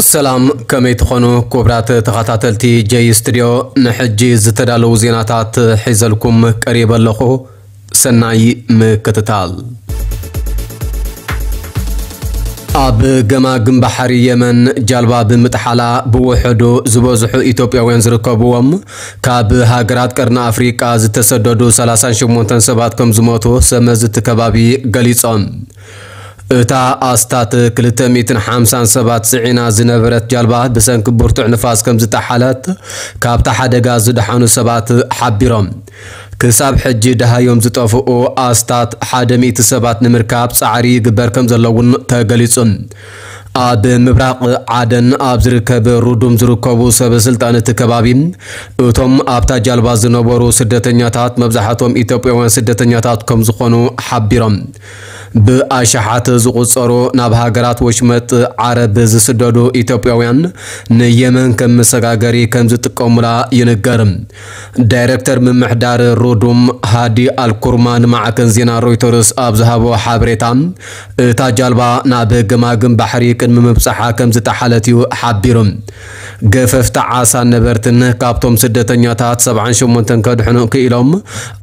ሰላም፣ ከመይ ትኾኑ ክቡራት ተኸታተልቲ ጀይ ስቱድዮ? ንሕጂ ዝተዳለዉ ዜናታት ሒዘልኩም ቀሪበ ኣለኹ። ሰናይ ምክትታል። ኣብ ገማግም ባሕሪ የመን ጃልባ ብምጥሓላ ብውሕዱ ዝበዝሑ ኢትዮጵያውያን ዝርከብዎም ካብ ሃገራት ቀርኒ ኣፍሪቃ ዝተሰደዱ ሰላሳን ሸሞንተን ሰባት ከም ዝሞቱ ሰመዝቲ ከባቢ ገሊጾም። እታ ኣስታት ክልተ ሚእትን ሓምሳን ሰባት ጽዒና ዝነበረት ጃልባ ብሰንኪ ብርቱዕ ንፋስ ከም ዝጠሓለት ካብታ ሓደጋ ዝደሓኑ ሰባት ሓቢሮም። ክሳብ ሕጂ ደሃዮም ዝጠፍኡ ኣስታት ሓደ ሚእቲ ሰባት ንምርካብ ጻዕሪ ይግበር ከም ዘሎ እውን ተገሊጹ። ኣብ ምብራቕ ዓደን ኣብ ዝርከብ ሩዱም ዝርከቡ ሰበ ስልጣን እቲ ከባቢ፣ እቶም ኣብታ ጃልባ ዝነበሩ ስደተኛታት መብዛሕትኦም ኢትዮጵያውያን ስደተኛታት ከም ዝኾኑ ሓቢሮም። ብኣሽሓት ዝቑጸሩ ናብ ሃገራት ወሽመጥ ዓረብ ዝስደዱ ኢትዮጵያውያን ንየመን ከም መሰጋገሪ ከም ዝጥቀሙላ ይንገር። ዳይሬክተር ምምሕዳር ሩዱም ሃዲ ኣልኩርማ ንማዕከን ዜና ሮይተርስ ኣብ ዝሃቦ ሓበሬታ፣ እታ ጃልባ ናብ ገማግም ባሕሪ ቅድሚ ምብጻሓ ከም ዝጠሓለት እዩ ሓቢሩ። ገፈፍቲ ዓሳ ነበርትን ካብቶም ስደተኛታት ሰብዓን ሸሞንተን ከድሕኑ ክኢሎም፣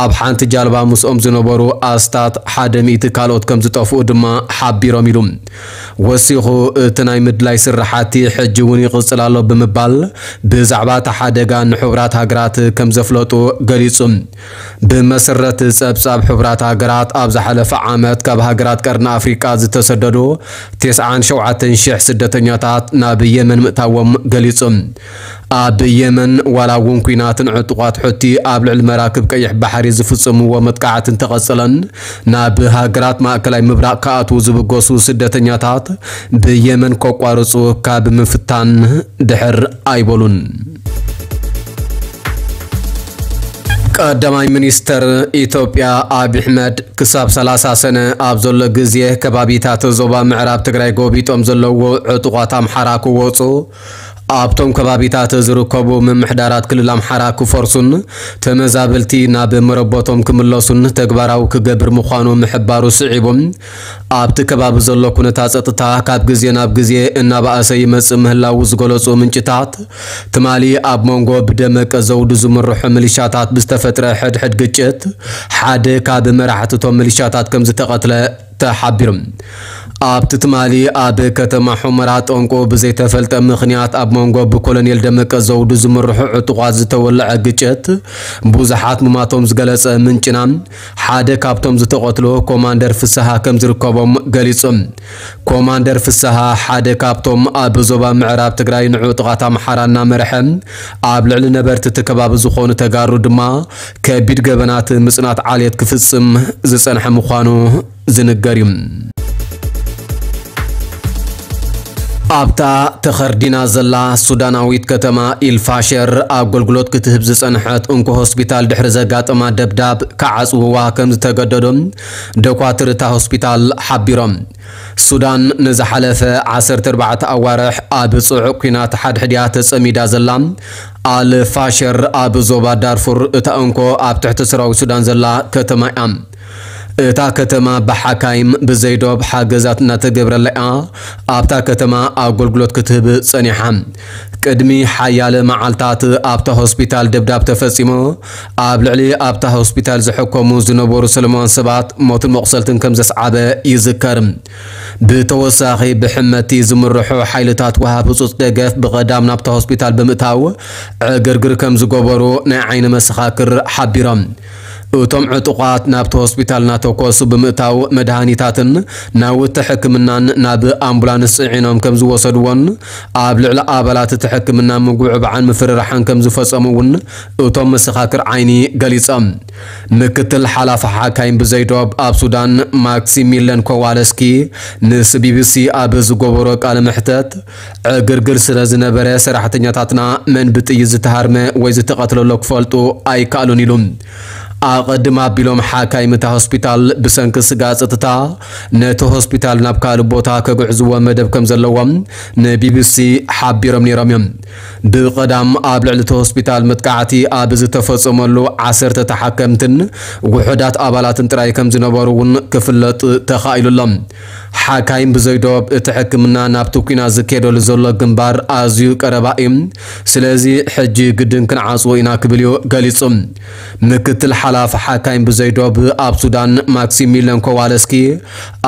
ኣብ ሓንቲ ጃልባ ምስኦም ዝነበሩ ኣስታት ሓደ ሚእቲ ካልኦት ከም ዝጠፍኡ ድማ ሓቢሮም ኢሉ። ወሲኹ፣ እቲ ናይ ምድላይ ስራሓቲ ሕጂ እውን ይቕጽል ኣሎ ብምባል፣ ብዛዕባ እቲ ሓደጋ ንሕቡራት ሃገራት ከም ዘፍለጡ ገሊጹ። ብመሰረት ጸብጻብ ሕቡራት ሃገራት፣ ኣብ ዝሓለፈ ዓመት ካብ ሃገራት ቀርኒ ኣፍሪቃ ዝተሰደዱ ተስዓን ሸውዓተን ሽሕ ስደተኛታት ናብ የመን ምእታዎም ገሊጹ። ኣብ የመን፣ ዋላ እውን ኲናትን ዕጡቓት ሑቲ ኣብ ልዕሊ መራክብ ቀይሕ ባሕሪ ዝፍጽምዎ መጥቃዕቲ እንተቐጸለን፣ ናብ ሃገራት ማእከላይ ምብራቕ ክኣትዉ ዝብገሱ ስደተኛታት ብየመን ከቋርጹ ካብ ምፍታን ድሕር ኣይበሉን። ቀዳማይ ሚኒስተር ኢትዮጵያ ኣብይ ኣሕመድ ክሳብ ሰላሳ ሰነ ኣብ ዘሎ ግዜ ከባቢታት ዞባ ምዕራብ ትግራይ ጎቢጦም ዘለዉ ዕጡቓት ኣምሓራ ክወጹ፣ ኣብቶም ከባቢታት ዝርከቡ ምምሕዳራት ክልል ኣምሓራ ክፈርሱን ተመዛበልቲ ናብ መረበቶም ክምለሱን ተግባራዊ ክገብር ምዃኑ ምሕባሩ ስዒቡ፣ ኣብቲ ከባቢ ዘሎ ኩነታት ጸጥታ ካብ ግዜ ናብ ግዜ እናበኣሰ ይመጽእ ምህላዉ ዝገለጹ ምንጭታት፣ ትማሊ ኣብ መንጎ ብደመቀ ዘውዱ ዝምርሑ ሚሊሻታት ብዝተፈጥረ ሕድሕድ ግጭት ሓደ ካብ መራሕቲ እቶም ሚሊሻታት ከም ዝተቐትለ ተሓቢሩ። ኣብቲ ትማሊ ኣብ ከተማ ሑመራ ጠንቁ ብዘይተፈልጠ ምኽንያት ኣብ መንጎ ብኮሎኔል ደመቀ ዘውዱ ዝምርሑ ዕጡቓት ዝተወለዐ ግጭት ብዙሓት ምማቶም ዝገለጸ ምንጭና፣ ሓደ ካብቶም ዝተቐትሉ ኮማንደር ፍስሃ ከም ዝርከቦም ገሊጹ። ኮማንደር ፍስሃ ሓደ ካብቶም ኣብ ዞባ ምዕራብ ትግራይ ንዕጡቓት ኣምሓራ እናመርሐ ኣብ ልዕሊ ነበርቲ እቲ ከባቢ ዝኾኑ ተጋሩ ድማ ከቢድ ገበናት ምጽናት ዓሌት ክፍጽም ዝጸንሐ ምዃኑ ዝንገር እዩ። ኣብታ ተኸርዲና ዘላ ሱዳናዊት ከተማ ኢልፋሸር ኣገልግሎት ክትህብ ዝጸንሐት እንኮ ሆስፒታል ድሕሪ ዘጋጠማ ደብዳብ ክዓጽውዋ ከም ዝተገደዱ ዶኳትር እታ ሆስፒታል ሓቢሮም። ሱዳን ንዝሓለፈ ዓሰርተ ኣርባዕተ ኣዋርሕ ኣብ ጽዑቕ ኲናት ሓድሕድያ ተጸሚዳ ዘላ ኣል ፋሸር ኣብ ዞባ ዳርፉር እታ እንኮ ኣብ ትሕቲ ሰራዊት ሱዳን ዘላ ከተማ እያ። እታ ከተማ ብሓካይም ብዘይዶብ ሓገዛት እናተገብረላ እያ ኣብታ ከተማ ኣገልግሎት ክትህብ ጸኒሓ። ቅድሚ ሓያለ መዓልታት ኣብታ ሆስፒታል ደብዳብ ተፈጺሙ፣ ኣብ ልዕሊ ኣብታ ሆስፒታል ዝሕከሙ ዝነበሩ ሰለማውያን ሰባት ሞትን መቑሰልትን ከም ዘስዓበ ይዝከር። ብተወሳኺ ብሕመቲ ዝምርሑ ሓይልታት ወሃብ ህጹጽ ደገፍ ብቐዳም ናብታ ሆስፒታል ብምእታው ዕግርግር ከም ዝገበሩ ናይ ዓይኒ መሰኻክር ሓቢሮም። እቶም ዕጡቓት ናብቲ ሆስፒታል እናተኮሱ ብምእታው መድሃኒታትን ናውቲ ሕክምናን ናብ ኣምቡላንስ ጽዒኖም ከም ዝወሰድዎን ኣብ ልዕሊ ኣባላት እቲ ሕክምና ምጉዕባዕን ምፍርራሕን ከም ዝፈጸሙ እውን እቶም መሰኻክር ዓይኒ ገሊጾም። ምክትል ሓላፊ ሓካይም ብዘይዶብ ኣብ ሱዳን ማክሲሚለን ኮዋለስኪ ምስ ቢቢሲ ኣብ ዝገበሮ ቃለ መሕተት፣ ዕግርግር ስለ ዝነበረ ሰራሕተኛታትና መን ብጥይት ዝተሃርመ ወይ ዝተቐትለሎ ክፈልጡ ኣይከኣሉን ኢሉ። ኣቐድም ኣቢሎም ሓካይም እታ ሆስፒታል ብሰንኪ ስግኣት ጸጥታ ነቲ ሆስፒታል ናብ ካልእ ቦታ ከግዕዝዎ መደብ ከም ዘለዎም ንቢቢሲ ሓቢሮም ነይሮም እዮም። ብቐዳም ኣብ ልዕሊ እቲ ሆስፒታል መጥቃዕቲ ኣብ ዝተፈጸመሉ ዓሰርተ ተሓከምትን ውሑዳት ኣባላትን ጥራይ ከም ዝነበሩ እውን ክፍለጥ ተኻኢሉ ኣሎ። ሓካይም ብዘይዶብ እቲ ሕክምና ናብቲ ኲናት ዝካየደሉ ዘሎ ግንባር ኣዝዩ ቀረባ እዩ፣ ስለዚ ሕጂ ግድን ክንዓጽዎ ኢና ክብል እዩ ገሊጹ። ምክትል ሓላፊ ሓካይም ብዘይዶብ ኣብ ሱዳን ማክሲሚለን ኮዋለስኪ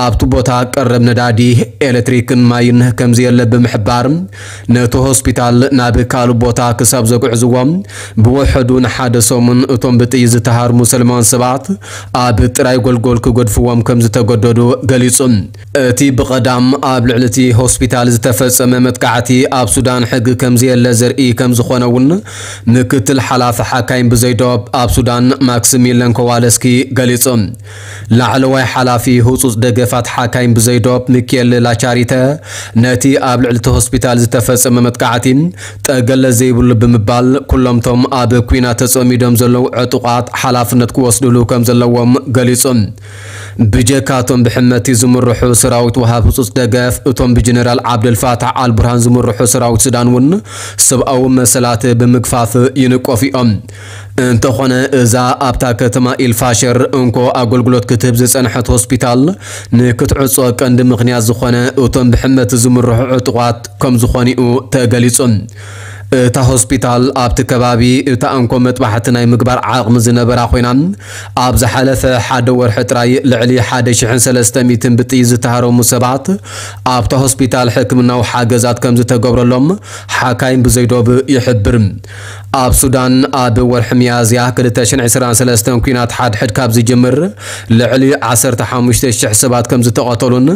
ኣብቲ ቦታ ቀረብ ነዳዲ፣ ኤሌክትሪክን ማይን ከም ዘየለ ብምሕባር ነቲ ሆስፒታል ናብ ካልእ ቦታ ክሳብ ዘግዕዝዎም ብውሕዱ ንሓደ ሰሙን እቶም ብጥይት ዝተሃርሙ ሰለማውያን ሰባት ኣብ ጥራይ ጎልጎል ክገድፍዎም ከም ዝተገደዱ ገሊጹ። እቲ ብቐዳም ኣብ ልዕሊ እቲ ሆስፒታል ዝተፈጸመ መጥቃዕቲ ኣብ ሱዳን ሕጊ ከም ዘየለ ዘርኢ ከም ዝኾነ እውን ምክትል ሓላፊ ሓካይም ብዘይዶብ ኣብ ሱዳን ማክሲሚለን ኮዋለስኪ ገሊጹ። ላዕለዋይ ሓላፊ ህጹጽ ደገፋት ሓካይም ብዘይዶብ ሚኬል ላቻሪተ ነቲ ኣብ ልዕሊ እቲ ሆስፒታል ዝተፈጸመ መጥቃዕቲ ጠገለ ዘይብሉ ብምባል ኩሎምቶም ኣብ ኲናት ተጸሚዶም ዘለዉ ዕጡቓት ሓላፍነት ክወስድሉ ከም ዘለዎም ገሊጹ። ብጀካቶም ብሕመቲ ዝምርሑ ሰራዊት ወሃብ ህጹጽ ደገፍ እቶም ብጀነራል ዓብደልፋታሕ ኣልቡርሃን ዝምርሑ ሰራዊት ሱዳን እውን ሰብኣዊ መሰላት ብምግፋፍ ይንቆፉ እዮም። እንተኾነ እዛ ኣብታ ከተማ ኢልፋሸር እንኮ ኣገልግሎት ክትህብ ዝጸንሐት ሆስፒታል ንክትዕጾ ቀንዲ ምኽንያት ዝኾነ እቶም ብሕመቲ ዝምርሑ ዕጡቓት ከም ዝኾኑ እዩ ተገሊጹ። እታ ሆስፒታል ኣብቲ ከባቢ እታ እንኮ መጥባሕቲ ናይ ምግባር ዓቕሚ ዝነበራ ኮይና ኣብ ዝሓለፈ ሓደ ወርሒ ጥራይ ልዕሊ ሓደ ሽሕን ሰለስተ ሚእትን ብጥይት ዝተሃረሙ ሰባት ኣብታ ሆስፒታል ሕክምናዊ ሓገዛት ከም ዝተገብረሎም ሓካይም ብዘይዶብ ይሕብር። ኣብ ሱዳን ኣብ ወርሒ ሚያዝያ ክልተ ሽሕን ዕስራን ሰለስተን ኲናት ሓድሕድ ካብ ዝጅምር ልዕሊ ዓሰርተ ሓሙሽተ ሽሕ ሰባት ከም ዝተቐተሉን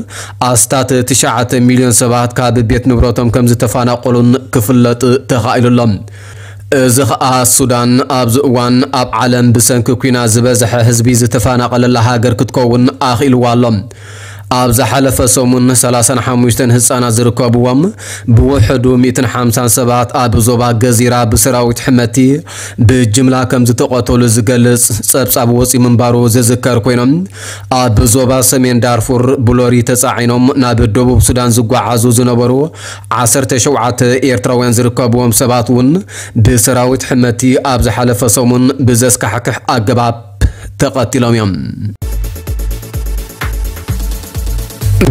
ኣስታት ትሽዓተ ሚልዮን ሰባት ካብ ቤት ንብረቶም ከም ዝተፈናቐሉን ክፍለጥ ተኻኢሉ ኣሎ። እዚ ኸኣ ሱዳን ኣብዚ እዋን ኣብ ዓለም ብሰንኪ ኲናት ዝበዝሐ ህዝቢ ዝተፈናቐለላ ሃገር ክትከውን ኣኽኢልዋ ኣሎ። ኣብ ዝሓለፈ ሰሙን ሰላሳን ሓሙሽተን ህጻናት ዝርከብዎም ብውሕዱ ሚእትን ሓምሳን ሰባት ኣብ ዞባ ገዚራ ብሰራዊት ሕመቲ ብጅምላ ከም ዝተቐተሉ ዝገልጽ ጸብጻብ ወጺኡ ምንባሩ ዝዝከር ኮይኖም፣ ኣብ ዞባ ሰሜን ዳርፉር ብሎሪ ተጻዒኖም ናብ ደቡብ ሱዳን ዝጓዓዙ ዝነበሩ ዓሰርተ ሸውዓተ ኤርትራውያን ዝርከብዎም ሰባት እውን ብሰራዊት ሕመቲ ኣብ ዝሓለፈ ሰሙን ብዘስካሕክሕ ኣገባብ ተቐቲሎም እዮም።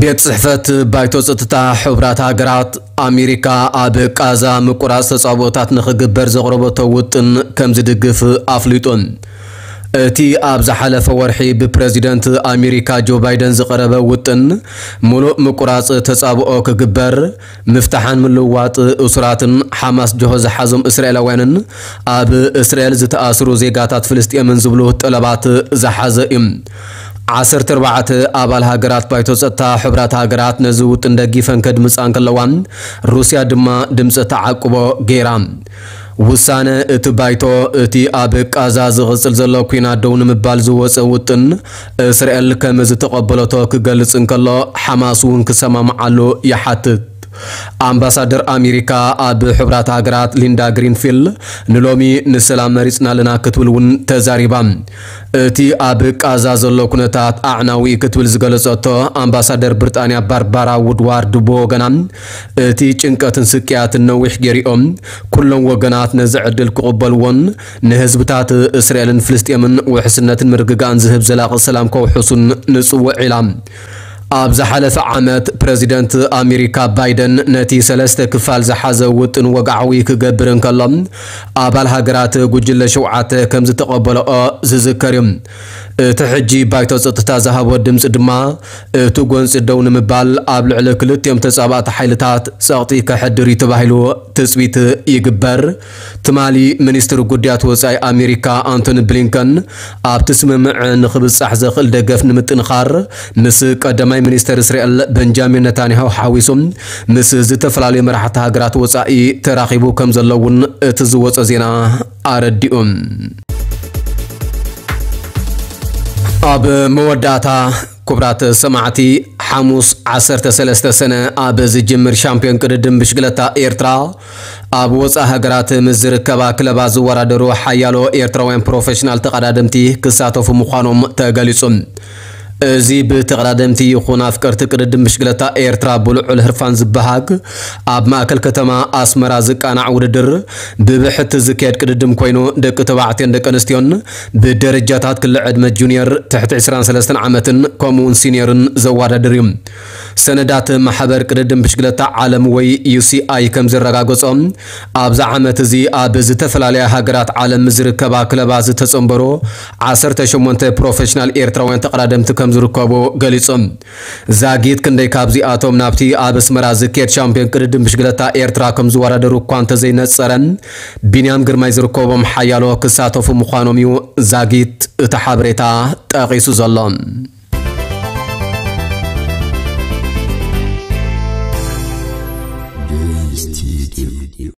ቤት ጽሕፈት ባይቶ ጸጥታ ሕቡራት ሃገራት ኣሜሪካ ኣብ ቃዛ ምቁራጽ ተጻብኦታት ንኽግበር ዘቕረበቶ ውጥን ከም ዝድግፍ ኣፍሊጡ። እቲ ኣብ ዝሓለፈ ወርሒ ብፕረዚደንት ኣሜሪካ ጆ ባይደን ዝቐረበ ውጥን፣ ምሉእ ምቁራጽ ተጻብኦ ክግበር፣ ምፍታሕን ምልውዋጥ እሱራትን ሓማስ ጅሆ ዝሓዞም እስራኤላውያንን ኣብ እስራኤል ዝተኣስሩ ዜጋታት ፍልስጤምን ዝብሉ ጠለባት ዝሓዘ እዩ። ዓሰርተ ኣርባዕተ ኣባል ሃገራት ባይቶ ጸጥታ ሕቡራት ሃገራት ነዚ ውጥን ደጊፈን ከድምጻ እንከለዋ፣ ሩስያ ድማ ድምጺ ተዓቅቦ ገይራ። ውሳነ እቲ ባይቶ፣ እቲ ኣብ ቃዛ ዝቕጽል ዘሎ ኲናት ደው ንምባል ዝወጸ ውጥን፣ እስራኤል ከም ዝተቐበለቶ ክገልጽ እንከሎ፣ ሓማስ እውን ክሰማምዓሉ ይሓትት። ኣምባሳደር ኣሜሪካ ኣብ ሕቡራት ሃገራት ሊንዳ ግሪንፊልድ ንሎሚ ንሰላም መሪጽና ኣለና ክትብል እውን ተዛሪባ። እቲ ኣብ ቃዛ ዘሎ ኩነታት ኣዕናዊ እዩ ክትብል ዝገለጸቶ ኣምባሳደር ብሪጣንያ ባርባራ ውድዋርድ ብወገና፣ እቲ ጭንቀትን ስቅያትን ነዊሕ ገይሩኦም፣ ኩሎም ወገናት ነዚ ዕድል ክቕበልዎን ንህዝብታት እስራኤልን ፍልስጤምን ውሕስነትን ምርግጋእን ዝህብ ዘላቒ ሰላም ከውሕሱን ንጽውዕ ኢላ። ኣብ ዝሓለፈ ዓመት ፕረዚደንት ኣሜሪካ ባይደን ነቲ ሰለስተ ክፋል ዝሓዘ ውጥን ወግዓዊ ክገብር እንከሎ፣ ኣባል ሃገራት ጉጅለ ሸውዓተ ከም ዝተቐበለኦ ዝዝከር እዩ። እቲ ሕጂ ባይቶ ጸጥታ ዝሃቦ ድምጺ ድማ እቲ ጎንጺ ደው ንምባል ኣብ ልዕሊ ክልቲኦም ተጻባእቲ ሓይልታት ጸቕጢ ከሕድር እዩ ተባሂሉ ትጽቢት ይግበር። ትማሊ ሚኒስትር ጉዳያት ወጻኢ ኣሜሪካ ኣንቶኒ ብሊንከን ኣብቲ ስምምዕ ንኽብጻሕ ዘኽእል ደገፍ ንምጥንኻር ምስ ቀዳማይ ሚኒስተር እስራኤል በንጃሚን ነታንያሁ ሓዊሱ ምስ ዝተፈላለዩ መራሕቲ ሃገራት ወጻኢ ተራኺቡ ከም ዘሎ እውን እቲ ዝወጸ ዜና ኣረዲኡ። ኣብ መወዳእታ ክቡራት ሰማዕቲ፣ ሓሙስ ዓሰርተ ሰለስተ ሰነ ኣብ ዝጅምር ሻምፒዮን ቅድድም ብሽግለታ ኤርትራ ኣብ ወፃኢ ሃገራት ምስ ዝርከባ ክለባት ዝወዳደሩ ሓያሎ ኤርትራውያን ፕሮፌሽናል ተቐዳደምቲ ክሳተፉ ምዃኖም ተገሊጹ። እዚ ብተቐዳደምቲ ይኹን ኣፍቀርቲ ቅድድም ብሽግለታ ኤርትራ ብልዑል ህርፋን ዝበሃግ ኣብ ማእከል ከተማ ኣስመራ ዝቃናዕ ውድድር ብብሕቲ ዝካየድ ቅድድም ኮይኑ ደቂ ተባዕትዮን ደቂ ኣንስትዮን ብደረጃታት ክሊ ዕድመ ጁኒየር ትሕቲ ዕስራን ሰለስተን ዓመትን ከምኡውን ሲኒየርን ዘወዳድር እዩ። ሰነዳት ማሕበር ቅድድም ብሽግለታ ዓለም ወይ ዩ ሲ ኣይ ከም ዘረጋገጾ ኣብዛ ዓመት እዚ ኣብ ዝተፈላለያ ሃገራት ዓለም ዝርከባ ክለባት ዝተጸንበሩ ዓሰርተ ሸሞንተ ፕሮፌሽናል ኤርትራውያን ተቐዳደምቲ ከም ዝርከቡ ገሊጾም። ዛጊት ክንደይ ካብዚኣቶም ናብቲ ኣብ ኣስመራ ዝካየድ ሻምፒዮን ቅድድም ብሽግለታ ኤርትራ ከም ዝወዳደሩ እኳ እንተዘይነጸረ፣ ቢንያም ግርማይ ዝርከቦም ሓያሎ ክሳተፉ ምዃኖም እዩ ዛጊት እቲ ሓበሬታ ጠቒሱ ዘሎ።